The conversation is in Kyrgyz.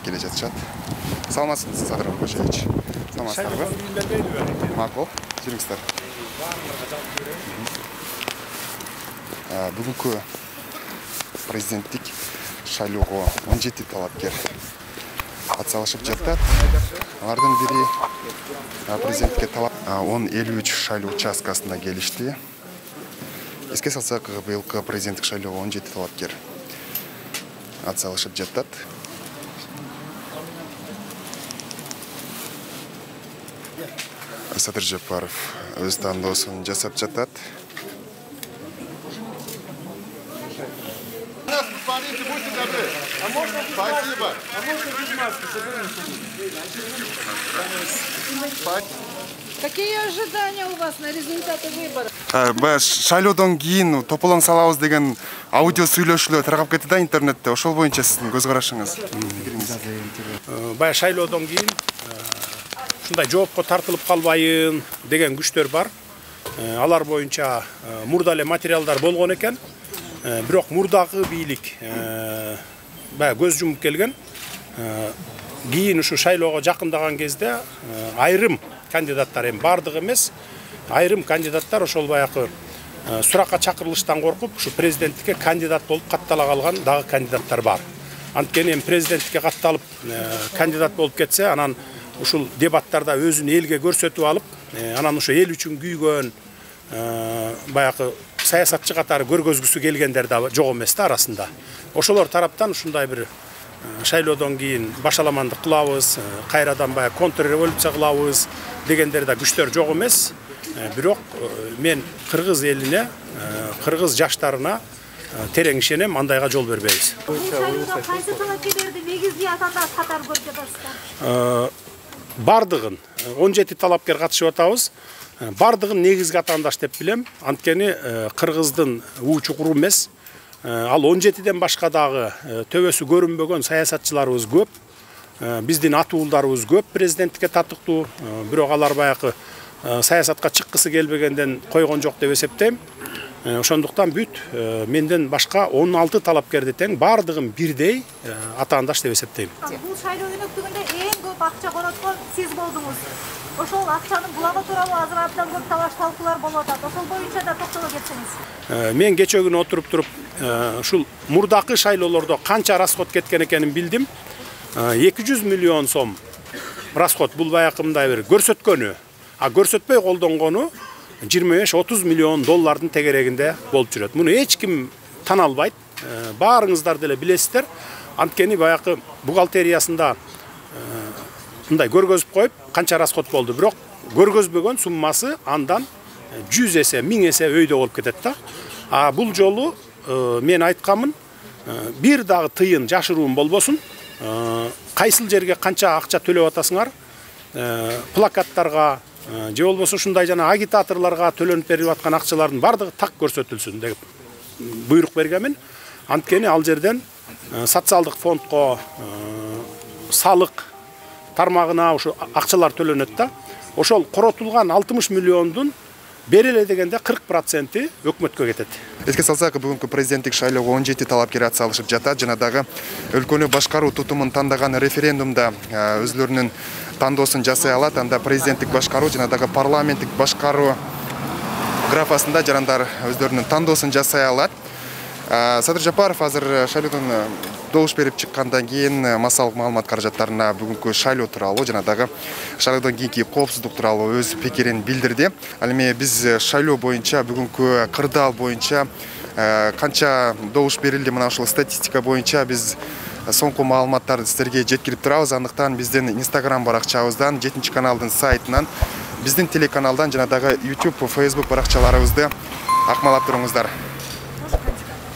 келе жатышат. Саламатсызбы, Садыр Кошевич? Саламатсызбы? Макул, жүрүңүздөр. Бүгүнкү президенттик шайлоого 17 талапкер атсалышып жатат. Алардын бири президентке талап 10-53 шайлоо участкасына келишти. Эске салсак, быйылкы президенттик шайлоого 17 талапкер атсалышып жатат. Садыр Жапаров өз тандоосун жасап жатат. Спасибо. Какие ожидания у вас на результаты выборов? Шайлоодон кийин тополоң салабыз деген аудио сүйлөшүүлөр таркап кетти да интернетте. Ошол боюнча сиздин көз карашыңыз. Баягы шайлоодон кийин ушундай жоопко тартылып калбайын деген күчтөр бар. Алар боюнча мурда эле материалдар болгон экен. Бирок мурдагы бийлик баягы көз жумуп келген. Кийин ушу шайлоого жакындаган кезде айрым кандидаттар, эми бардыгы эмес, айрым кандидаттар ошол баягы суракка чакырылыштан коркуп, ушу президенттикке кандидат болуп каттала калган дагы кандидаттар бар. Анткени эми президенттикке катталып кандидат болуп кетсе, анан ушул дебаттарда өзүн элге көрсөтүп алып, анан ошо эл үчүн күйгөн баягы саясатчы катары көргөзгүсү келгендер да жок эмес да арасында. Ошолор тараптан ушундай бир шайлоодон кийин башаламандык кылабыз, кайрадан баягы контрреволюция кылабыз дегендер да күчтөр жок эмес. Бирок мен кыргыз элине, кыргыз жаштарына терең ишенем, андайга жол бербейбиз. Бул шайлоодо кайсы талапкерлерди негизги атаандаш катары көрүп жатасыздар? Бардыгын 17 талапкер катышып атабыз. Бардыгын негизги атаандаш деп билем. Анткени кыргыздын уу чукуру эмес. Ал 17ден башка дагы төбөсү көрүнбөгөн саясатчыларыбыз көп. Биздин атуулдарыбыз көп президенттикке татыктуу. Бирок алар баягы саясатка чыккысы келбегенден койгон жок деп эсептейм. Ошондуктан бүт менден башка 16 талапкерди тең бардыгын бирдей атаандаш деп эсептейм. Бул шайлоо өнөктүгүндө эң көп акча короткон сиз болдуңуз. Ошол акчанын булагы тууралуу азыр абдан көп талаш талкуулар болуп атат. Ошол боюнча да токтоло кетсеңиз. Мен кече күнү отуруп туруп ушул мурдакы шайлоолордо канча расход кеткен экенин билдим. 200 миллион сом расход бул баягы мындай бир көрсөткөнү. Көрсөтпөй колдонгону 25-30 миллион доллардын тегерегинде болуп жүрөт. Муну эч ким тана албайт. Баарыңыздар деле билесиздер. Анткени баягы бухгалтериясында мындай көргөзүп коюп, канча расход болду, бирок көргөзбөгөн суммасы андан 100 эсе, 1000 эсе өйдө болуп кетет да. Бул жолу мен айткамын, бир дагы тыйын жашыруун болбосун. Кайсыл жерге канча акча төлөп атасыңар, плакаттарга же болбосо ушундай жана агитаторлорго төлөнүп берип аткан акчалардын бардыгы так көрсөтүлсүн деп буйрук бергенмин. Анткени ал жерден социалдык фондко, салык тармагына ушу акчалар төлөнөт да. Ошол коротулган 60 миллиондун береле дегенде 40% өкмөткө кетет. Эске салсак, бүгүнкү президенттик шайлоого 17 талапкер атсалышып жатат. Жана дагы өлкөнү башкаруу тутумун тандаган референдумда өзлөрүнүн тандоосун жасай алат. Анда президенттик башкаруу жана дагы парламенттик башкаруу графасында жарандар өздөрүнүн тандоосун жасай алат. Садыр Жапаров азыр шайлоодон добуш берип чыккандан кийин массалык маалымат каражаттарына бүгүнкү шайлоо тууралуу жана дагы шайлоодон кийинки коопсуздук тууралуу өз пикирин билдирди. Ал эми биз шайлоо боюнча бүгүнкү кырдаал боюнча канча добуш берилди, мына ушул статистика боюнча биз соңку маалыматтарды сиздерге жеткирип турабыз. Андыктан биздин Instagram баракчабыздан, 7-каналдын сайтынан, биздин телеканалдан жана дагы YouTube, Facebook баракчаларыбызды акмалап туруңуздар.